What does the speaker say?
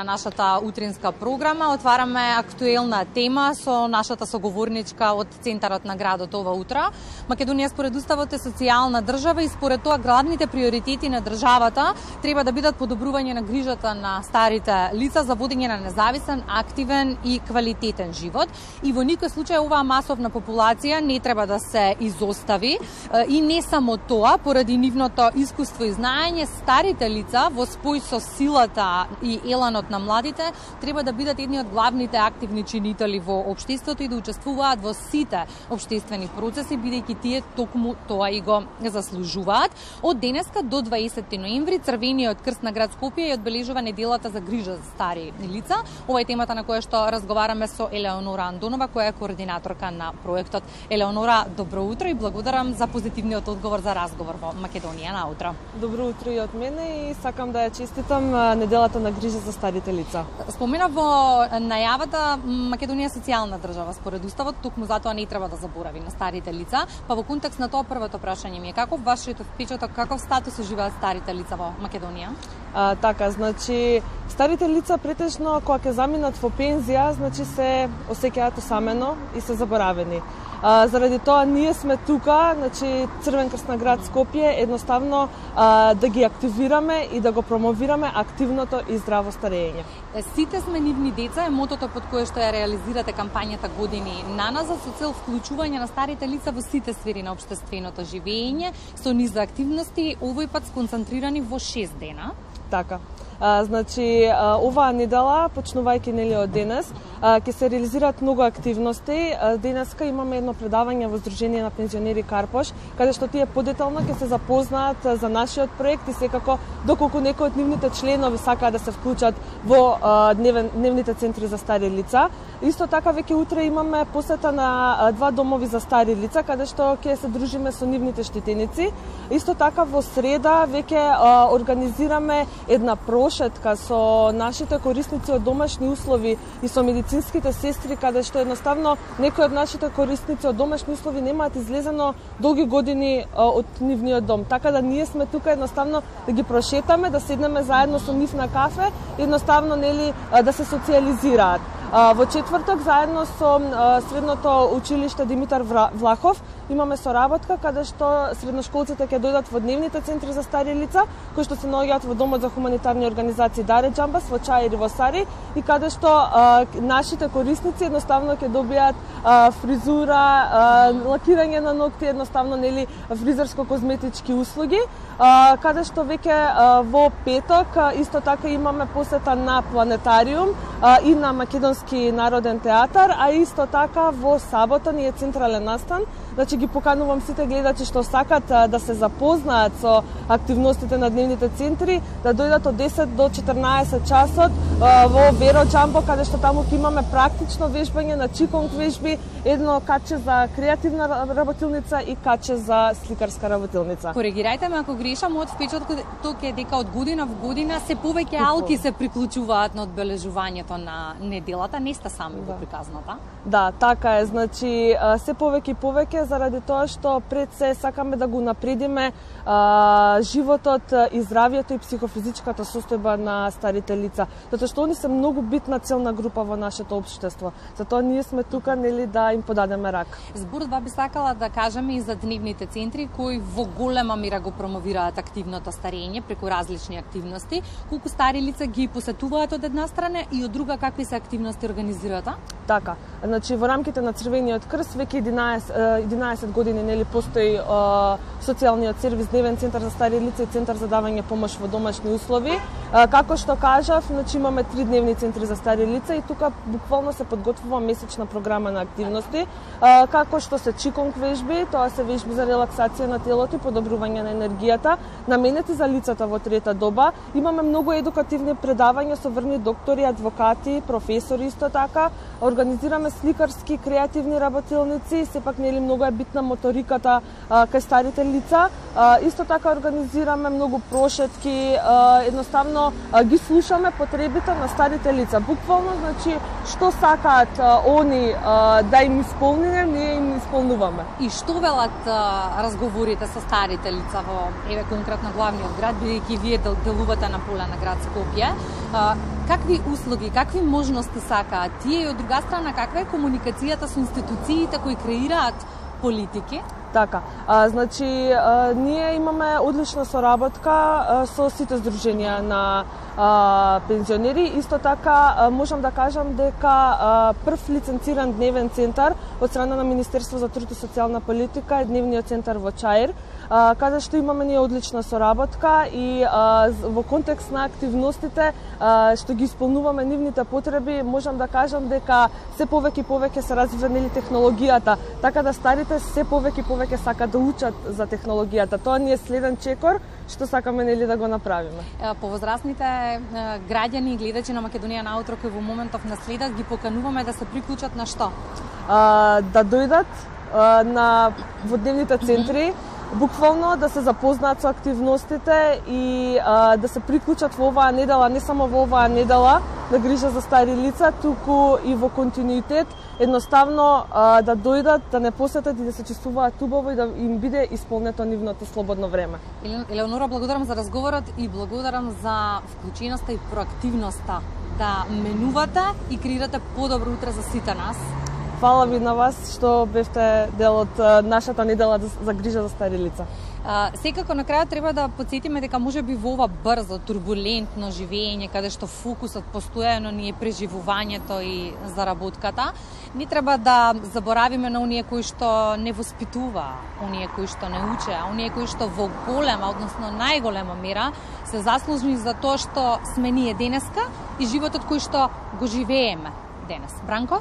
На нашата утринска програма отвараме актуелна тема со нашата соговорничка од центарот на градот ова утро. Македонија според уставот е социјална држава и според тоа главните приоритети на државата треба да бидат подобрување на грижата на старите лица за водење на независен, активен и квалитетен живот. И во никој случај оваа масовна популација не треба да се изостави. И не само тоа, поради нивното искуство и знаење, старите лица во спој со силата и еланот на младите треба да бидат едни од главните активни чинители во општеството и да учествуваат во сите општествени процеси, бидејќи тие токму тоа и го заслужуваат. Од денеска до 20 ноември Црвениот крст на град Скопје одбележува неделата за грижа за стари лица. Ова е темата на која што разговараме со Елеонора Андонова, која е координаторка на проектот. Елеонора, добро утро и благодарам за позитивниот одговор за разговор во Македонија на утро. Добро утро и од мене и сакам да ја честитам неделата на грижа за старите лица. Спомена во најавата Македонија е социјална држава според уставот, токму затоа не треба да заборави на старите лица. Па во контекст на тоа првото прашање ми е каков вашиот впечаток, каков статус уживаат старите лица во Македонија? Така, значи старите лица претежно кога ќе заминат во пензија, значи се осеќаат осамено и се заборавени. Заради тоа ние сме тука, значи Црвен крст на град Скопје, едноставно да ги активираме и да го промовираме активното и здраво старење. Сите сме нивни деца е мотото под кое што ја реализирате кампањата Години на назад со цел вклучување на старите лица во сите сфери на општественото живење со низ активности, овој пат сконцентрирани во 6 дена. Така. Значи, оваа недела, почнувајќи нели од денес, ќе се реализираат многу активности. Денеска имаме едно предавање во Сдружение на пензионери Карпош, каде што тие подетално ќе се запознаат за нашиот проект и секако доколку некои од нивните членови сакаат да се вклучат во дневните центри за стари лица. Исто така веќе утре имаме посета на два домови за стари лица, каде што ќе се дружиме со нивните штетеници. Исто така во среда веќе организираме една прошетка со нашите корисници од домашни услови и со медицинските сестри, каде што едноставно некои од нашите корисници од домашни услови немаат излезено долги години од нивниот дом. Така да ние сме тука едноставно да ги прошетаме, да седнеме заедно со нив на кафе, едноставно нели да се социализираат. Во четврток заедно со средното училиште Димитар Влахов имаме соработка каде што средношколците ќе дојдат во дневните центри за стари лица, кои што се наоѓаат во домот за хуманитарни организации Даре Џамбас во Чаир и во Сари, и каде што нашите корисници едноставно ќе добијат фризура, лакирање на ногти, едноставно нели фризерско-козметички услуги, каде што веќе во петок исто така имаме посета на Планетариум и на Македонски народен театар, а исто така во сабота ни е централен настан. Значи ги поканувам сите гледачи што сакат да се запознаат со активностите на дневните центри, да дојдат од 10 до 14 часот во Веро Џамбо, каде што таму ќе имаме практично вежбање на чиконг вежби, едно каче за креативна работилница и каче за сликарска работилница. Коригирајте ме ако грешам, од впечатокот е дека од година во година се повеќе алки се приклучуваат на одбележувањето на неделата, не сте сами во приказната? Да, така е, значи се повеќе и повеќе заради тоа што пред се сакаме да го напредиме животот и здравјето и психофизичката состојба на старите лица, затоа што они се многу битна целна група во нашето општество. Затоа ние сме тука нели да им подадеме рак. Зборот би сакала да кажеме и за дневните центри кои во голема мера го промовираат активното старење преку различни активности. Колку стари лица ги посетуваат од една страна и од друга какви се активности организираат? Така, значи во рамките на Црвениот крст веќе 11 години нели постои социјалниот сервис Дневен центар за стари лица и центар за давање помош во домашни услови. Како што кажав, значи имаме 3 дневни центри за стари лица и тука буквално се подготвува месечна програма на активности, како што се чиконг вежби, тоа се вежби за релаксација на телото и подобрување на енергијата, наменети за лицата во трета доба. Имаме многу едукативни предавања со врни доктори, адвокати, професори исто така. Организираме сликарски креативни работилници, сепак нели многу е битна моториката кај старите лица. Исто така организираме многу прошетки, едноставно едноставно ги слушаме потребите на старите лица. Буквално, значи, што сакаат они да им исполниме, ние им исполнуваме. И што велат разговорите со старите лица во еве конкретно главниот град, бидејќи вие делувате на поле на град Скопје? Какви услуги, какви можности сакаат тие и од друга страна каква е комуникацијата со институциите кои креираат политики? Така, значи, ние имаме одлична соработка со сите здруженија на пензионери. Исто така, можам да кажам дека прв лиценциран дневен центар од страна на Министерство за труд и социјална политика е дневниот центар во Чаир, каде што имаме ние одлична соработка и во контекст на активностите што ги исполнуваме нивните потреби, можам да кажам дека се повеќе и повеќе се развива технологијата, така да старите се повеќе и повеќе сакаат да учат за технологијата. Тоа ни е следен чекор што сакаме да го направиме. Повозрастните граѓани и гледачи на Македонија на утро кои во моментов наследат ги покануваме да се приклучат на што? Да дојдат во дневните центри, буквално да се запознаат со активностите и да се приклучат во оваа недела, не само во оваа недела на грижа за стари лица, туку и во континуитет, едноставно да дојдат, да не посетат и да се чувствуваат убаво и да им биде исполнето нивното слободно време. Елеонора, благодарам за разговорот и благодарам за вклученоста и проактивноста да менувате и креирате подобро утре за сите нас. Фала ви на вас што бевте дел од нашата недела за грижа за стари лица. Секако на крајот треба да потсетиме дека можеби во ова брзо, турбулентно живење, каде што фокусот постојано ни е преживувањето и заработката, не треба да заборавиме на оние кои што не воспитува, оние кои што не уче, оние кои што во голема, односно најголема мера се заслужни за тоа што сме ние денеска и животот кој што го живееме денес. Бранко?